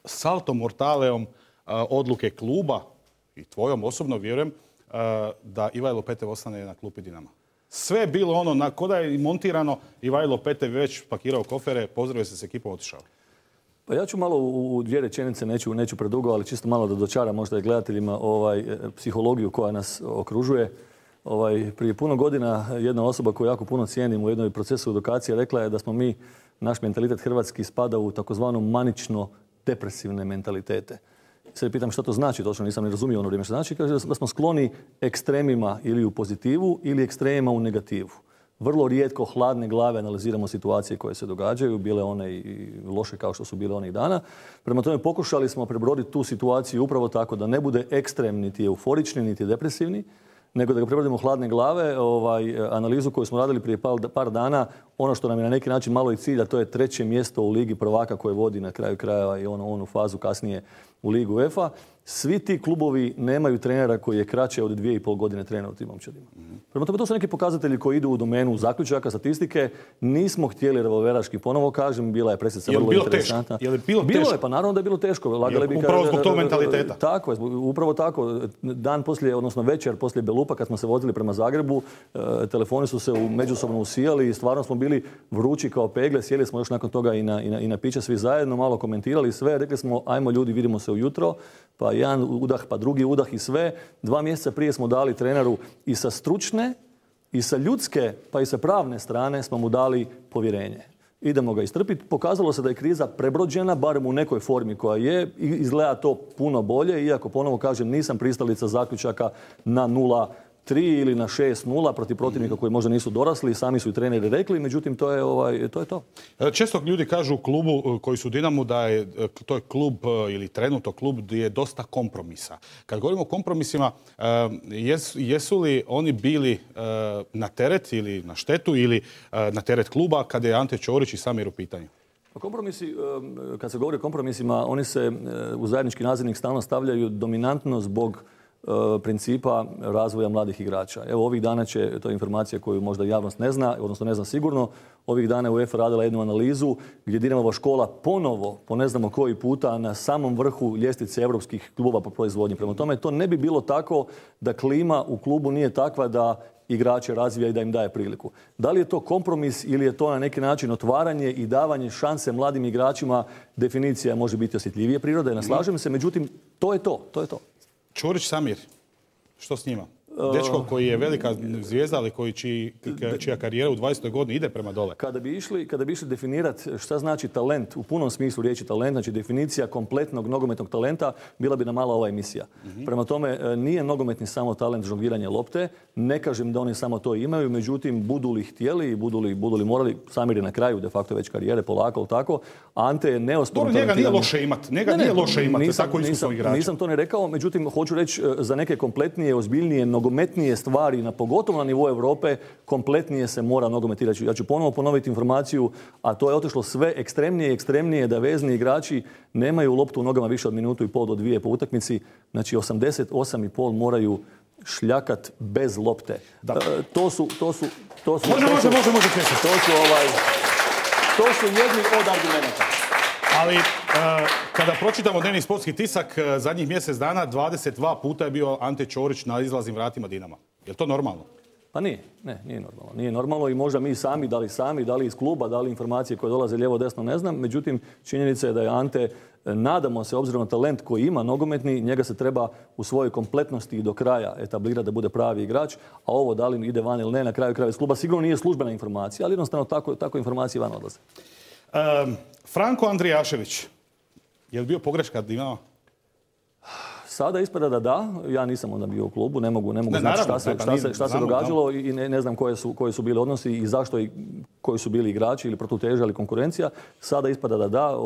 salto mortaleom odluke kluba i tvojom osobno vjerujem da Ivajlo Petev ostane na klupi Dinama. Sve je bilo ono, ko da je montirano, Ivajlo Petev već pakirao kofere, pozdravio se s ekipom, otišao. Pa ja ću malo u dvije rečenice, neću predugo, ali čisto malo da dočaram možda i gledateljima psihologiju koja nas okružuje. Prije puno godina jedna osoba koju jako puno cijenim u jednoj procesu edukacije rekla je da smo mi, naš mentalitet hrvatski spada u takozvano manično-depresivne mentalitete. Sad pitam što to znači, točno nisam ni razumio ono vrijeme što znači. Kaže da smo skloni ekstremima ili u pozitivu ili ekstremima u negativu. Vrlo rijetko hladne glave analiziramo situacije koje se događaju, bile one i loše kao što su bile onih dana. Prema tome pokušali smo prebroditi tu situaciju upravo tako da ne bude ekstrem niti euforični niti depresivni, nego da ga prebrodimo hladne glave. Analizu koju smo radili prije par dana, ono što nam je na neki način malo i cilj, a to je 3. mjesto u Ligi prvaka koje vodi na kraju krajeva i onu fazu kasnije u Ligu UEFA. Svi ti klubovi nemaju trenera koji je kraće od 2,5 godine trenera u tim momčadima. Prema tome, to su neki pokazatelji koji idu u domenu zaključaka, statistike. Nismo htjeli revolveraški, ponovo kažem, bila je presica vrlo interesantna. Je li bilo teško? Bilo je, pa naravno da je bilo teško. Upravo zbog tog mentaliteta. Tako je, upravo tako. Dan poslije, odnosno večer poslije Belupa, kad smo se vozili prema Zagrebu, telefoni su se međusobno usijali i stvarno smo bili vrući kao pegle. Sjeli smo još nakon toga i na piće svi zajedno, malo komentirali sve. Rekli smo, ajmo ljudi, vidimo se ujutro. Pa jedan udah, pa drugi udah i sve. 2 mjeseca prije smo dali treneru i sa stručne, i sa ljudske, pa i sa pravne strane smo mu dali povjerenje. Idemo ga istrpiti. Pokazalo se da je kriza prebrođena, barem u nekoj formi koja je. Izgleda to puno bolje, iako ponovo kažem nisam pristalica zaključaka na 0-3 ili na 6-0 protiv protivnika koji možda nisu dorasli, sami su i treneri rekli, međutim to je to. Često ljudi kažu u klubu koji su u Dinamu da je to je klub ili trenutno klub gdje je dosta kompromisa. Kad govorimo o kompromisima, jesu li oni bili na teret ili na štetu ili na teret kluba kada je Ante Ćorić i Samir u pitanju? Kompromisi, kad se govori o kompromisima, oni se u zajednički nazivnik stalno stavljaju dominantno zbog principa razvoja mladih igrača. Evo ovih dana će, to je informacija koju možda javnost ne zna, odnosno ne zna sigurno, ovih dana je UEFA radila jednu analizu gdje Dinamova škola ponovo, po ne znamo koji puta, na samom vrhu ljestvice europskih klubova po proizvodnji. Prema tome, to ne bi bilo tako da klima u klubu nije takva da igrače razvija i da im daje priliku. Da li je to kompromis ili je to na neki način otvaranje i davanje šanse mladim igračima, definicija može biti osjetljivije prirode, ne slažem se, međutim, to je to. Ćorić, Samir, što s njima? Dečko koji je velika zvijezda, ali čija karijera u 20. godini ide prema dole. Kada bi išli definirati šta znači talent, u punom smislu riječi talent, znači definicija kompletnog nogometnog talenta, bila bi nam mala ova emisija. Prema tome, nije nogometni samo talent žongliranja lopte. Ne kažem da oni samo to imaju, međutim, budu li htjeli i budu li morali, Samir je na kraju de facto već karijere, polako, tako. Ante je neosporno njega nije loše imati. Nije loše imati tako iskusnog igrača. Nisam to ne rekao, međutim, hoću reći za neke kompletnije, ozbiljnije, nogometnije stvari, pogotovo na nivou Europe, kompletnije se mora nogometirati. Ja ću ponovo ponoviti informaciju, a to je otišlo sve ekstremnije i ekstremnije, da vezni igrači nemaju loptu u nogama više od 1,5 do 2 po utakmici. Znači 88,5 moraju šljakat bez lopte. To su jedni od argumenta. Ali kada pročitamo dnevni sportski tisak, zadnjih mjesec dana 22 puta je bio Ante Ćorić na izlaznim vratima Dinama. Je li to normalno? Pa nije normalno. Nije normalno i možda mi sami, da li iz kluba, da li informacije koje dolaze lijevo desno, ne znam. Međutim, činjenica je da je Ante, nadamo se, obzirom na talent koji ima nogometni, njega se treba u svojoj kompletnosti i do kraja etablirati da bude pravi igrač, a ovo da li ide van ili ne, na kraju krajeva iz kluba, sigurno nije službena informacija, ali jednostavno tako informacije van odlaze. Franko Andrijašević, je li bio pogreška Dinama? Sada ispada da. Ja nisam onda bio u klubu, ne mogu znati šta se događalo i ne znam koji su bili odnosi i zašto i koji su bili igrači ili protuteža ili konkurencija. Sada ispada da.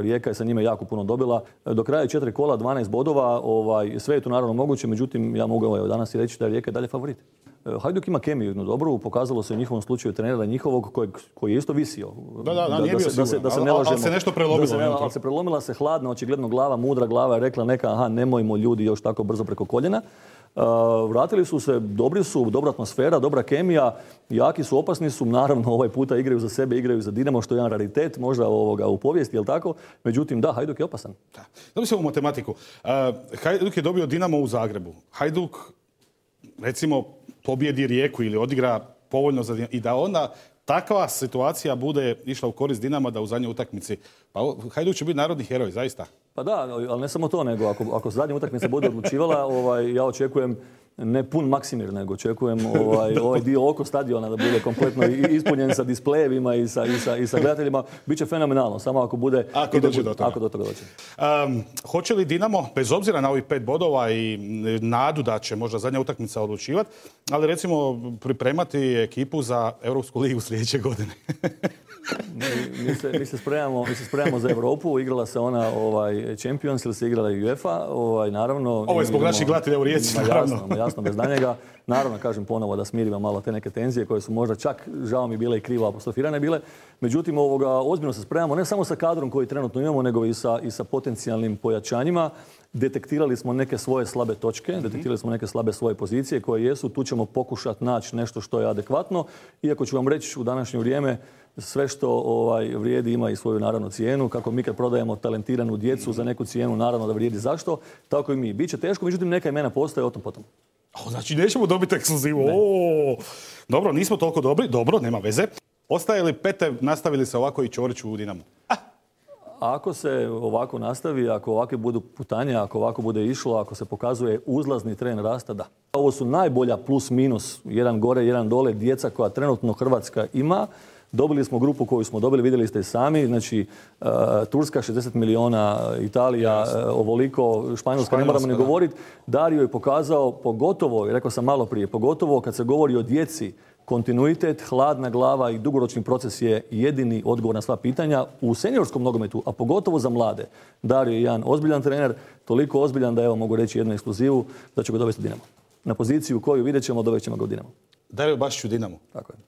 Rijeka je sa njime jako puno dobila. Do kraja 4 kola, 12 bodova. Sve je to naravno moguće, međutim ja mogu danas i reći da je Rijeka dalje favorit. Hajduk ima kemiju jednu dobru, pokazalo se u njihovom slučaju trenera njihovog koji je isto visio. Nije bio siguran, ali se nešto prelomilo. Ali se prelomila se hladna, očigledno glava, mudra glava je rekla neka, nemojmo ljudi još tako brzo preko koljena. Vratili su se, dobri su, dobra atmosfera, dobra kemija, jaki su, opasni su, naravno ovaj puta igraju za sebe, igraju za Dinamo, što je jedan raritet možda u povijesti, jel tako? Međutim, da, Hajduk je opasan. Da bi se u matematiku. Hajduk je dobio Dinamo u Zagrebu. Hajduk, recimo, pobjedi Rijeku ili odigra povoljno za Dinamo. I da onda takva situacija bude išla u korist Dinama da u zadnjoj utakmici. Pa Hajduk će biti narodni heroj, zaista. Pa da, ali ne samo to, nego ako zadnja utakmica bude odlučivala, ja očekujem ne pun Maksimir, nego očekujem ovaj dio oko stadiona da bude kompletno ispunjen sa displejevima i sa gledateljima. Biće fenomenalno, samo ako bude... Ako dođe do toga. Ako do toga dođe. Hoće li Dinamo, bez obzira na ovih 5 bodova i nadu da će možda zadnja utakmica odlučivati, ali recimo pripremati ekipu za Europsku ligu sljedeće godine? Mi se spremamo za Europu. Igrala se ona Champions ili se igrala i UEFA. Naravno, ovo je zbog naših gledatelja u Rijeci. Jasno, bez danjega. Naravno, kažem ponovo da smirimo malo te neke tenzije koje su možda čak, žao mi, bile i krivo apostrofirane bile. Međutim, ozbiljno se spremamo ne samo sa kadrom koji trenutno imamo, nego i sa potencijalnim pojačanjima. Detektirali smo neke svoje slabe točke, detektirali smo neke slabe svoje pozicije koje jesu. Tu ćemo pokušati naći nešto što je adekvatno. Iako ću vam reći u današnje vrijeme, sve što vrijedi ima i svoju naravno cijenu. Kako mi kad prodajemo talentiranu djecu za neku cijenu, naravno da vrijedi zašto. Tako i mi. Biće teško, međutim neka imena postoje o tom potom. Znači nećemo dobiti ekskluzivu. Dobro, nismo toliko dobri. Dobro, nema veze. Ostaje li Pete, nastavili se ovako i Ćorić u Dinamu? Ako se ovako nastavi, ako ovakve budu putanje, ako ovako bude išlo, ako se pokazuje uzlazni trend rasta, da. Ovo su najbolja plus minus, jedan gore, jedan dole, djeca koja trenutno Hrvatska ima. Dobili smo grupu koju smo dobili, vidjeli ste i sami, znači Turska 60 milijuna, Italija ovoliko, Španjolska ne moramo ni govoriti. Dario je pokazao, pogotovo, rekao sam malo prije, pogotovo kad se govori o djeci, kontinuitet, hladna glava i dugoročni proces je jedini odgovor na sva pitanja u seniorskom nogometu, a pogotovo za mlade. Dario je jedan ozbiljan trener, toliko ozbiljan da evo mogu reći jednu ekskluzivu da će ga dovesti u Dinamo. Na poziciju koju vidjet ćemo, dovest ćemo ga u Dinamo. Dario Bašić u Dinamu. Tako je.